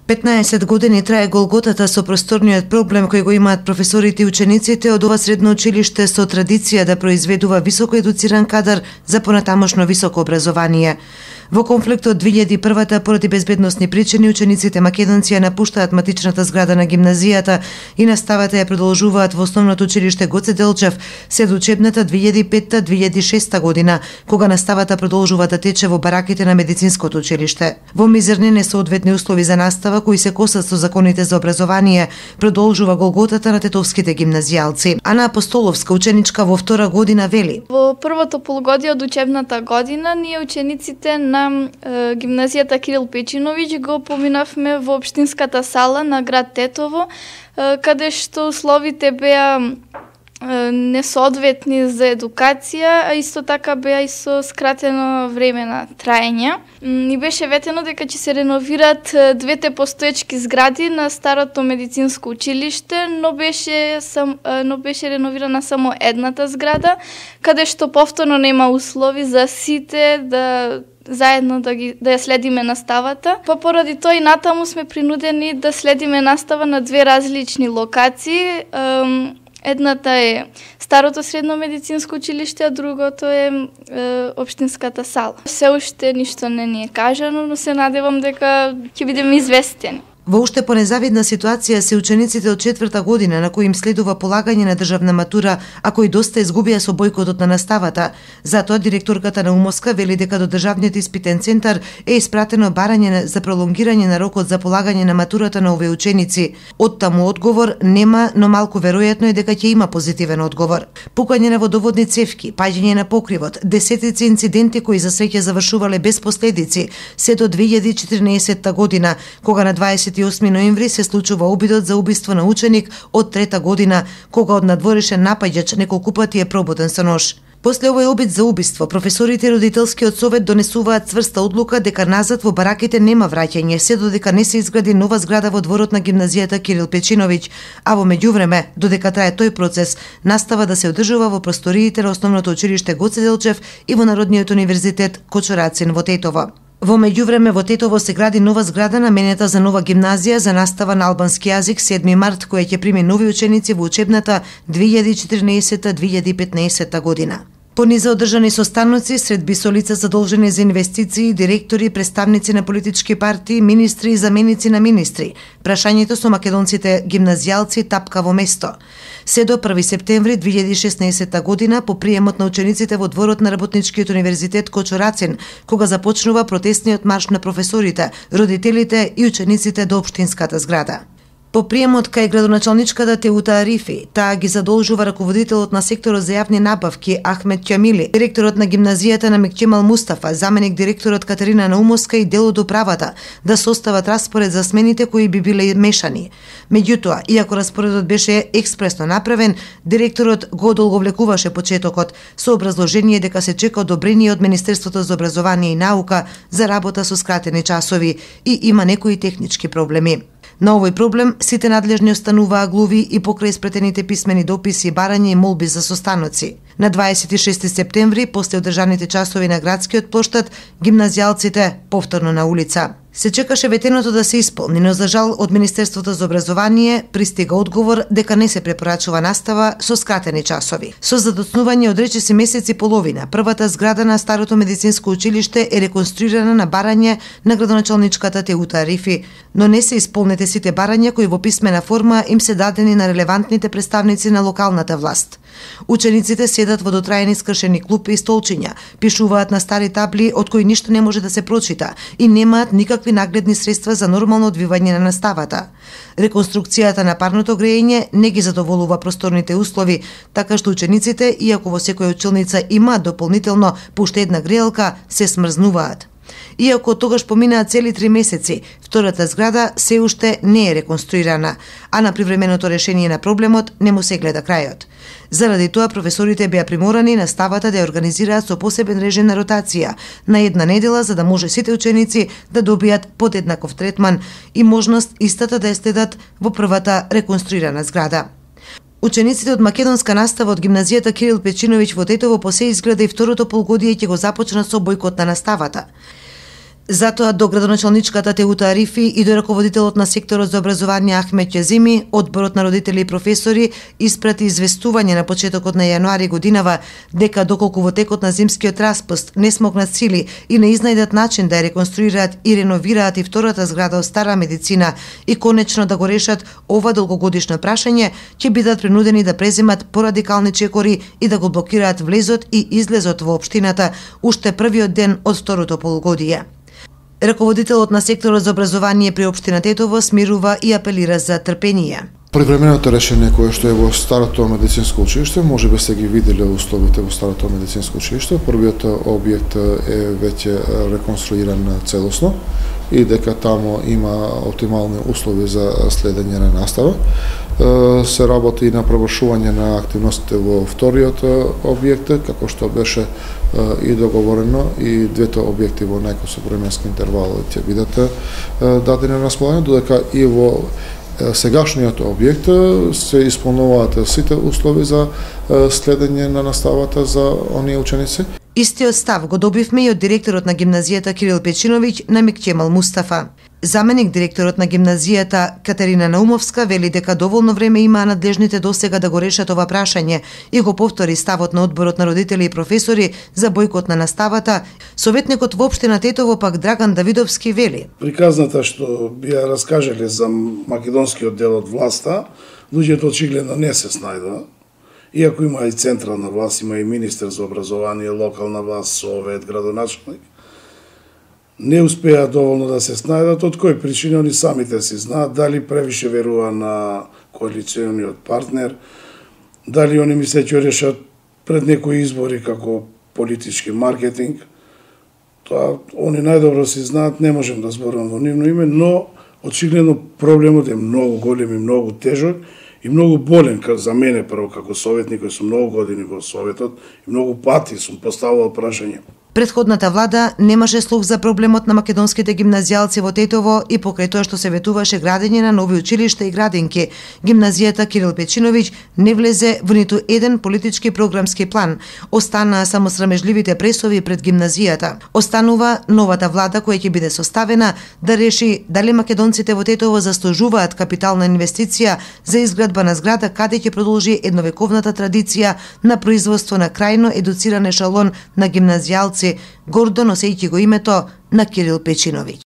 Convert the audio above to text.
15 години трае голготата со просторниот проблем кој го имаат професорите и учениците од ова средно училиште со традиција да произведува високо едуциран кадар за понатамошно високо образование. Во конфликтот 2001 поради безбедносни причини учениците македонци ја напуштаат матичната зграда на гимназијата и наставата ја продолжуваат во основното училиште Гоце Делчев се до учебната 2005-2006 година, кога наставата продолжува да тече во бараките на медицинското училиште. Во мизерни несоодветни услови за настава кои се косат со законите за образование, продолжува голготата на тетовските гимназијалци. Ана Апостоловска, ученичка во втора година, вели: Во првото полугодие од учебната година ние учениците на гимназијата Кирил Печиновиќ го поминавме во општинската сала на град Тетово, каде што условите беа несоодветни за едукација, а исто така беа и со скратено време на траење. Ни беше ветено дека ќе се реновират двете постоечки згради на старото медицинско училиште, но беше реновирана само едната зграда, каде што повторно нема услови за сите да заедно да ја следиме наставата. Поради тоа и натаму сме принудени да следиме настава на две различни локации. Едната е старото средно медицинско училиште, а другото е општинската сала. Се уште ништо не ни е кажано, но се надевам дека ќе бидеме известени. Во уште понезавидна ситуација се учениците од четврта година на кои им следува полагање на државна матура, а кои доста изгубија со бојкотот на наставата. Затоа директорката на УМОСКА вели дека до државниот испитен центар е испратено барање за пролонгирање на рокот за полагање на матурата на овие ученици. Оттаму одговор нема, но малку веројатно е дека ќе има позитивен одговор. Пукање на водоводни цевки, паѓање на покривот, десетици инциденти кои за среќа завршувале без последици, се до 2014 година, кога на 28 ноември се случува обидот за убиство на ученик од трета година, кога од надворешен напаѓач неколку пати е пробуден со нож. После овој обид за убиство, професорите и родителскиот совет донесуваат цврста одлука дека назад во бараките нема враќање, се додека не се изгради нова зграда во дворот на гимназијата Кирил Печиновиќ, а во меѓувреме, додека трае тој процес, настава да се одржува во просториите на основното училиште Гоце Делчев и во Народниот универзитет Кочурацин во Тетово. Во меѓувреме во Тетово се гради нова зграда наменета за нова гимназија за настава на албански јазик 7 март, која ќе прими нови ученици во учебната 2014-2015 година. Пониза одржани состаноци сред бисо лица задолжени за инвестиции, директори, представници на политички партии, министри и заменици на министри. Прашањето со македонците гимназијалци тапка во место. Се до 1 септември 2016 година по приемот на учениците во дворот на Работничкиот универзитет Кочурацин, кога започнува протестниот марш на професорите, родителите и учениците до општинската зграда. По приемот кај градоначалничката Теута Арифи, таа ги задолжува раководителот на секторот за јавни набавки Ахмет Ќамили, директорот на гимназијата на Мекчемал Мустафа, заменик директорот Катерина Наумовска и дел од управата да состават распоред за смените кои би биле мешани. Меѓутоа, иако распоредот беше експресно направен, директорот го одолговлекуваше почетокот со образложение дека се чека одобрение од Министерството за образование и наука за работа со скратени часови и има некои технички проблеми. На овој проблем сите надлежни остануваа глуви и покрај испратените писмени дописи, барања и молби за состаноци. На 26 септември, после одржаните часови на градскиот плоштад, гимназијалците повторно на улица. Се чекаше ветеното да се исполни, но за жал од Министерството за образование пристига одговор дека не се препорачува настава со скратени часови. Со задоцнување од речиси месец и половина, првата зграда на старото медицинско училиште е реконструирана на барање на градоначалничката Теута Арифи, но не се исполнете сите барања кои во писмена форма им се дадени на релевантните представници на локалната власт. Учениците седат во дотраени скршени клупи и столчиња, пишуваат на стари табли од кои ништо не може да се прочита и немаат никакви нагледни средства за нормално одвивање на наставата. Реконструкцијата на парното грејење не ги задоволува просторните услови, така што учениците, иако во секоја училница има дополнително по уште една греелка, се смрзнуваат. Иако тогаш поминаат цели 3 месеци, втората зграда се уште не е реконструирана, а на привременото решение на проблемот не му се гледа крајот. Заради тоа професорите беа приморани наставата да ја организираат со посебен режим на ротација на една недела за да може сите ученици да добијат подеднаков третман и можност истата да ја следат во првата реконструирана зграда. Учениците од македонска настава од гимназијата Кирил Печиновиќ во Тетово по се изгледа и второто полугодие ќе го започнат со бојкот на наставата. Затоа до градоначалничката Теута Арифи и до раководителот на секторот за образование Ахмет Ќазими, одборот на родители и професори испрати известување на почетокот на јануари годинава дека доколку во текот на зимскиот распуст не смогнат сили и не изнајдат начин да ја реконструираат и реновираат и втората зграда од стара медицина и конечно да го решат ова долгогодишно прашање, ќе бидат принудени да преземат порадикални чекори и да го блокираат влезот и излезот во општината уште првиот ден од второто полугодие. Раководителот на секторот за образование при општина Тетово смирува и апелира за трпение. Привременото решение кое што е во старото медицинско училиште, може би сте ги виделе условите во старото медицинско училиште. Првиот објект е веќе реконструиран целосно и дека таму има оптимални услови за следење на настава. Се работи и на провршување на активностите во вториот објект, како што беше и договорено, и двете објекти во најкусок временски интервал ќе бидат дадени на располагање, додека и во сегашниот објект се исполнуваат сите услови за следење на наставата за оние ученици. Истиот став го добивме и од директорот на гимназијата Кирил Печиновиќ на Микчемал Мустафа. Заменик директорот на гимназијата Катерина Наумовска вели дека доволно време имаа надлежните досега да го решат ова прашање и го повтори ставот на одборот на родители и професори за бојкот на наставата. Советникот во општина Тетово пак Драган Давидовски вели: приказната што ја раскажале за македонскиот дел од власта, луѓето очигледно не се снајдува. Иако има и централна власт, има и министер за образование, локална власт, совет, градоначалник, не успеа доволно да се снајдат, од кој причини они самите си знаат, дали превише верува на коалициониот партнер, дали они мисле ќе решат пред некои избори како политички маркетинг. Тоа они најдобро си знаат, не можем да зборувам во нивно име, но очигледно проблемот е многу голем и многу тежок и многу болен за мене прво како советник, кој сум многу години во советот и многу пати сум поставувал прашање. Претходната влада немаше слух за проблемот на македонските гимназијалци во Тетово и покрај тоа што се ветуваше градење на нови училишта и градинки, гимназијата Кирил Печиновиќ не влезе во ниту еден политички програмски план. Останаа само срамежливите пресови пред гимназијата. Останува новата влада која ќе биде составена да реши дали македонците во Тетово заслужуваат капитална инвестиција за изградба на зграда каде ќе продолжи едновековната традиција на производство на крајно едуциран ешалон на гимназијалци, гордо носејќи го името на Кирил Печиновиќ.